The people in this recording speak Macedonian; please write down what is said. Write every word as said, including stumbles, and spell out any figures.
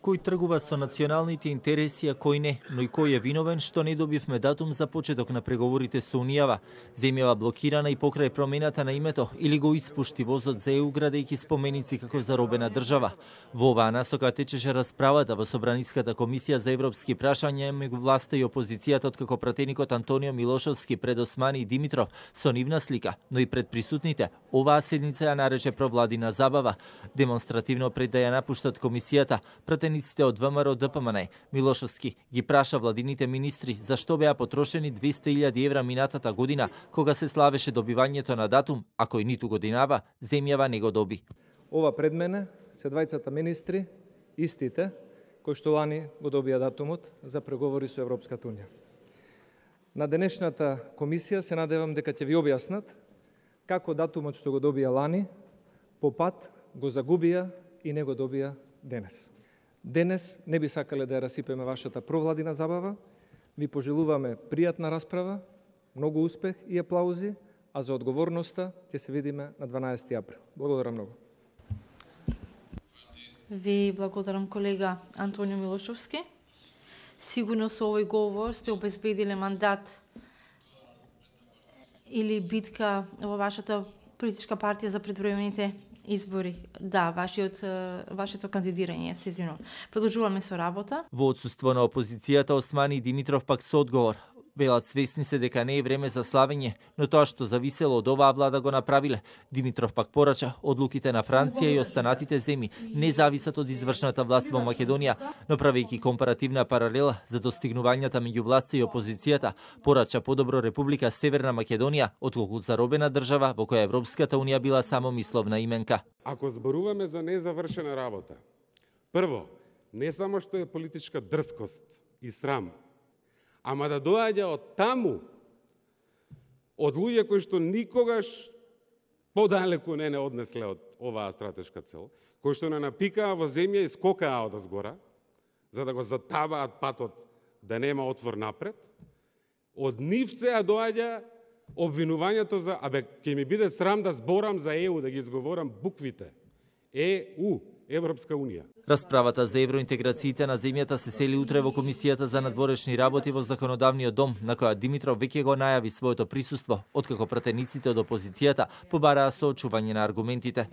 кој тргува со националните интереси, а кој не, но и кој е виновен што не добивме датум за почеток на преговорите со Унијава. Земјава блокирана и покрај промената на името или го испушти возот за Е У градејќи споменици како заробена држава. Во оваа насока течеше расправата во Собраниската комисија за европски прашања меѓу власта и опозицијата, откако пратеникот Антонио Милошовски пред Османи и Димитров со нивна слика, но и пред присутните, оваа седница ја нарече провладина забава. Демонстративно пред да ја напуштат комисијата, пратениците од Вэ Ем Р Д П М Н Милошовски ги праша владините министри зашто беа потрошени двесте илјади евра минатата година кога се славеше добивањето на датум, а кој ниту годинава земјава не го доби. Ова пред мене се двајцата министри, истите, кои што лани го добија датумот за преговори со Европската Унија. На денешната комисија се надевам дека ќе ви објаснат како датумот што го добија лани, по пат го загубија и не го добија денес. Денес не би сакале да ја расипеме вашата провладина забава. Ви пожелуваме пријатна расправа, многу успех и аплаузи, а за одговорноста ќе се видиме на дванаесети април. Благодарам многу. Ви благодарам, колега Антонио Милошовски. Сигурно со овој говор сте обезбедиле мандат или битка во вашата политичка партија за предвремените избори. Да, вашиот, вашето кандидирање се извинувам. Продолжуваме со работа. Во отсуство на опозицијата, Османи и Димитров пак со одговор. Велат свесни се дека не е време за славење, но тоа што зависело од оваа влада го направиле. Димитров пак порача, одлуките на Франција и останатите земји не зависат од извршната власт во Македонија, но правејќи компаративна паралела за достигнувањата меѓу власта и опозицијата, порача подобро Република Северна Македонија, отколку заробена држава во која Европската Унија била само мисловна именка. Ако зборуваме за незавршена работа, прво, не само што е политичка дрскост и срам, ама да доаѓа од таму, од луѓе кои што никогаш подалеку не не однесле од оваа стратешка цел, кои што не напикаа во земја и скокаа од озгора, за да го затабаат патот да нема отвор напред, од нив се доаѓа обвинувањето за, абе, ќе ми биде срам да зборам за Е У, да ги изговорам буквите. Е У, Европска Унија. Расправата за евроинтеграциите на земјата се сели утре во Комисијата за надворешни работи во Законодавниот дом, на која Димитров веќе го најави своето присуство, откако пратениците од опозицијата побараа соочување на аргументите.